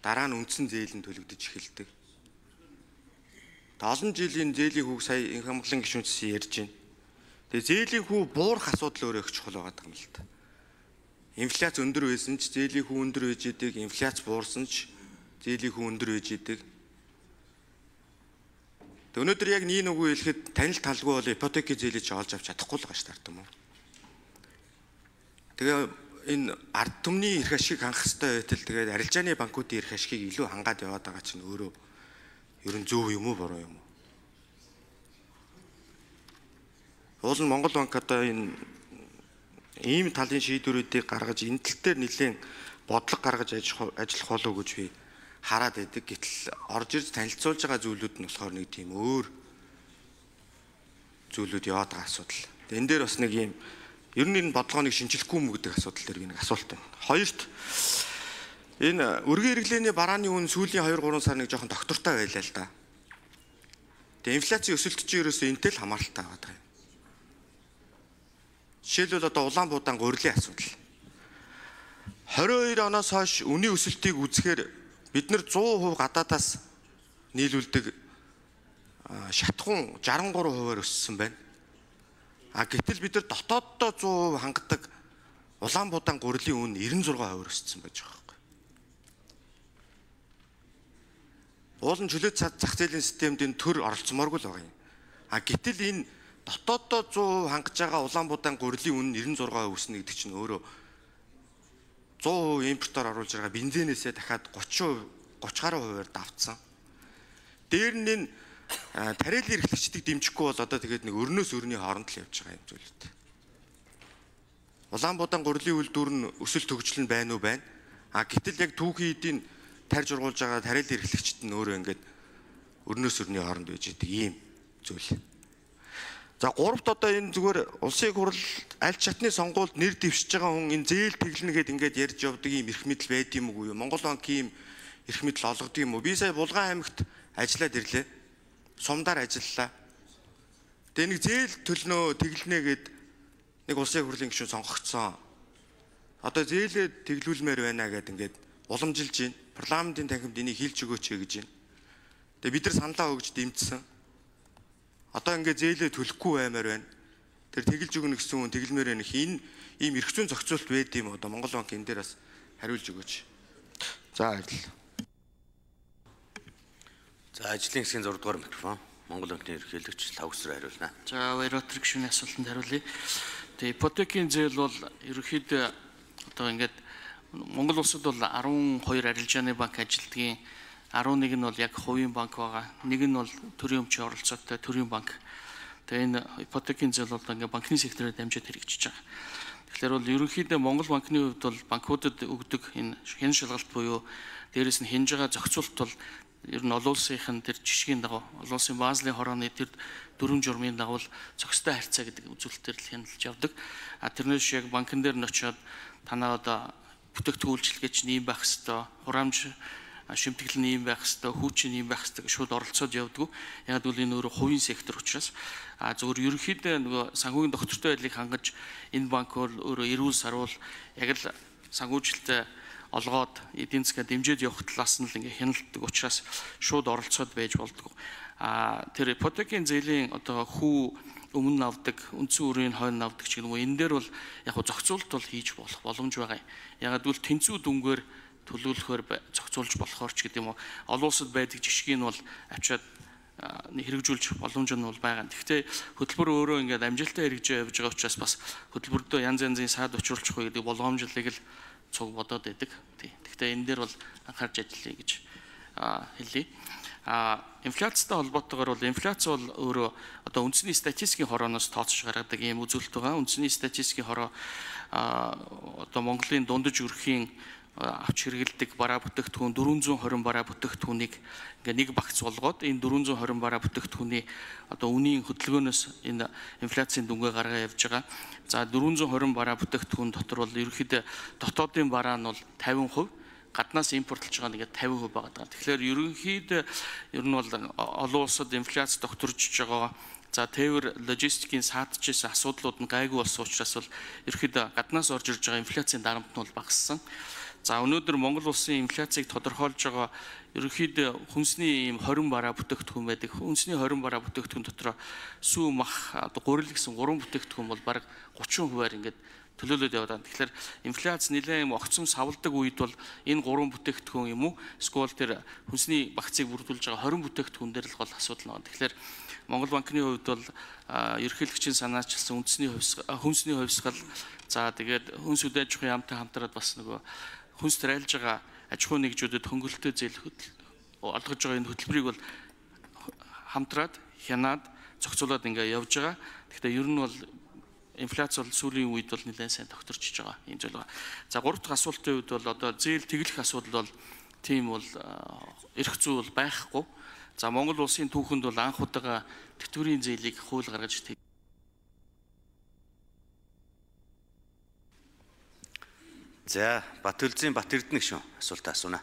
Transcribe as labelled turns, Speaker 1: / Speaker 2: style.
Speaker 1: дараа нь үндсэн зээл нь төлөгдөж эхэлдэг. Олон жилийн зээлийн хүүг сая Инхамглан гишүүнчсэн ярьж байна. Тэгээ зээлийн хүү буурах асуудал өөрөө их чухал байгаа юм л та. Инфляц өндөр байсан ч зээлийн хүү өндөр байж идэг, инфляц буурсан ч зээлийн хүү өндөр байж идэг. Тэг өнөөдөр яг нэг үгүй хэлэхэд танил талгүй бол ипотекийн зээлийг ч олж авч чадахгүй л байгаа ш таард юм уу. Тэгээ энэ ард түмний эрх ашиг хангах хэрэгтэй байтал тэгээд арилжааны банкуудын эрх ашигыг илүү хангаад яваад байгаа чинь өөрөө ер нь зөв юм уу буруу юм уу? Уул нь Монгол банк одоо энэ ийм талын шийдвэрүүдийг гаргаж энэ тал дээр нэлээд бодлого гаргаж ажиллах болов уу гэж би хараад байдаг. Гэтэл орж ирж танилцуулж байгаа зүйлүүд нь болохоор нэг тийм өөр зүйлүүд яваад байгаа асуудал. Энэ дээр бас нэг юм ер нь энэ бодлогыг шинжилэхгүй юм гэдэг асуудал дээр би нэг асуулт байна. Хоёрт энэ өргөн хэрэглээний барааны үн сүүлийн 2-3 сар нэг жоохон доктортой байлаа л да. Тэгээ инфляцийн өсөлт чинь ерөөсөө энтэй л хамааралтай байгаа юм. Жишээлбэл одоо Улаанбуудаан гурилын асуудал. 22 оноос хойш үнийн өсөлтийг үзэхээр бид нар 100% гадаадаас нийлүүлдэг шатхуун 63%-аар өссөн байна. Гэтэл бид нар дотооддоо 100% хангадаг Улаанбуудаан гурилын үн 96% өссөн байж байгаа юм. Уулын чөлөөт зах зээлийн системд энэ төр оролцмооргүй л байгаа юм. Гэтэл энэ дотооддоо 100% хангаж байгаа Улаанбуудаан гурилын үн 96% өснө гэдэг чинь өөрөө 100% импортоор оруулж байгаа бензинээсээ дахиад 30 гаруй хувиар давтсан. Дээр нь энэ тариалан эрхлэгчдийг дэмжихгүй бол одоо тэгээд нэг өрнөөс өрний хооронд л явж байгаа юм зүйлүүд. Улаанбуудаан гурилын үйлдвэр нь өсөлт хөгжил нь байна уу байна. Гэтэл яг түүхийн эдийн тарьж ургуулж байгаа тариалан эрхлэгчд нь өөрөө ингээд өрнөөс өрний хооронд байж идэг ийм зүйл. За гуравт одоо энэ зүгээр улсын хурал аль чатны сонгуульд нэр дэвшиж байгаа хүн энэ зээл тэглэнэ гэд ингээд ярьж явдаг ийм эрх мэдэл байд юм уу? Монгол банк ийм эрх мэдэл олгодог юм уу? Би сая Булган аймагт ажиллаад ирлээ. Сумдаар ажиллалаа. Тэгээ нэг зээл төлнөө тэглэнэ гэд нэг улсын хурлын гишүүн сонгогдсон. Одоо зээлээ тэглүүлмээр байна гэд ингээд уламжилж байна. Парламентын танхимд энийг хийлж өгөөч гэж байна. Тэгээ бид нар саналаа өгж дэмжсэн. Одоо ингээд зээлээ төлөхгүй баймаар байна. Тэр тэгэлж өгнө гэсэн хүн тэгэлмээр байна. Энэ ийм эрх зүйн зохицуулт байд юм одоо Монгол банк энэ дээр бас хариулж өгөөч. За баярлалаа.
Speaker 2: За ажлын хэсгийн 6 дугаар микрофон Монгол банкны ерөнхийлөгч Лавгсруу хариулна.
Speaker 3: За баярлалаа гишүүний асуултанд хариулъя. Тэгээ ипотекийн зээл бол ерөнхийдөө одоо ингээд Монгол улсад бол 12 арилжааны банк ажилтгийн 11 нь бол яг хувийн банк байгаа. Нэг нь бол төрийн өмчийн оролцоотой төрийн банк. Тэгээ энэ ипотекийн зээл бол ингээд банкны сектороор дамжаад хэрэгжиж байгаа. Тэгэхээр бол ерөнхийдөө Монгол банкны хувьд бол банкудад өгдөг энэ хэн шалгалт буюу дээрээс нь хянж байгаа зохицуулт бол ер нь олон улсынхын тэр жишгийн дагуу олон улсын Базелийн хорооны тэр дөрвөн журмын дагуу зохистой харьцаа гэдэг үзүүлэлтээр л хяналтж явдаг. Тэрнээс яг банкн дээр нь очиод танаа одоо бүтээгдэхүүн үйлчилгээч нь ийм байх хэвээр, хураамж шимтгэл нь ийм байх хэвээр, хүүчин ийм байх хэвээр шууд оролцоод явдаг. Яг бол энэ өөрөө хувийн сектор учраас зөвхөн ерөнхийдөө нөгөө санхүүгийн доктортой байдлыг хангаж энэ банк бол өөрөө эрүүл сарвал яг л санхүүжилтөд олгоод эдийн засгаа дэмжиж явах талаас нь л ингээ хяналтдаг учраас шууд оролцоод байж болдог. Тэр ипотекийн зээлийн одоо хүү өмнө авдаг, үндсэн үрийн хойно авдаг ч гэнэ үү энэ дээр бол яг зохицуулт бол хийж болох боломж байгаа юм. Ягаад гэвэл тэнцүү дүнгээр төлөвлөхөөр зохицуулж болохоор ч гэдэг юм уу. Олон улсад байдаг жишгийг нь бол авчиад хэрэгжүүлж боломж нь бол байгаа. Гэхдээ хөтөлбөр өөрөө ингээд амжилттай хэрэгжиж явж байгаа учраас бас хөтөлбөрдөө янз янзын саад учруулчих уу гэдэг болгоомжлыг л цуг бодоод байдаг. Гэхдээ энэ дээр бол анхаарч ажиллая гэж хэлье. Инфляцтай холбоотойгоор бол инфляц бол өөрөө одоо үндэсний статистикийн хорооноос тооцож гаргадаг ийм үзүүлэлт байгаа. Үндэсний статистикийн хороо одоо Монголын дундаж өрхийн авч хэрэгэлдэг бараа бүтээгдэхүүн 420 бараа бүтээгдэхүүнийг ингээ нэг багц болгоод энэ 420 бараа бүтээгдэхүүний одоо үнийн хөдөлгөөнөөс энэ инфляцийн дүнгээ гаргаа явж байгаа. За 420 бараа бүтээгдэхүүн дотор бол ерөнхийдөө дотоодын бараа нь бол 50%, гаднаас импортлж байгаа нэгээ 50% байгаа. Тэгэхээр ерөнхийдөө ер нь бол олон улсад инфляц докторжж байгаа. За тээвэр логистикийн саадчээс асуудлууд нь гайгүй болсон учраас бол ерөнхийдөө гаднаас орж ирж байгаа инфляцийн дарамт нь бол багассан. За өнөөдөр Монгол улсын инфляцийг тодорхойлж байгаа ерөнхийдөө хүнсний ийм 20 бараа бүтээгдэхүүн байдаг. Хүнсний 20 бараа бүтээгдэхүүн дотор сүү мах одоо гурил гэсэн 3 бүтээгдэхүүн бол бараг 30%-аар ингээд төлөөлөд яваад байна. Тэгэхээр инфляц нэлээд юм огцом савладаг үед бол энэ 3 бүтээгдэхүүн юм уу? Эсвэл тэр хүнсний багцыг бүрдүүлж байгаа 20 бүтээгдэхүүн дээр л гол асуудал байна. Тэгэхээр Монгол банкны хувьд бол ерөнхийлөгчийн санаачилсан хүнсний хувьсгал за тэгээд хүнс үдэ аж ахуйн яамтай хамтраад бас нөгөө хүнс тарайлж байгаа аж ахуйн нэгжүүдэд хөнгөлөлтөө зээл олгож байгаа энэ хөтөлбөрийг бол хамтраад хянаад зохицуулаад ингээ явж байгаа. Гэхдээ ер нь бол инфляц бол сүүлийн үед бол нэлээд сайн тогтворчж байгаа юм зүйл байна. За гурав дахь асуултын үед бол одоо зээл тэглэх асуудал бол тийм бол эрх зүй бол байхгүй. За Монгол улсын түүхэнд бол анх удаага тэтгэврийн зээлийг хууль гаргаж
Speaker 2: За Бат Эрдэнэ гишүүн асуултаа асууна.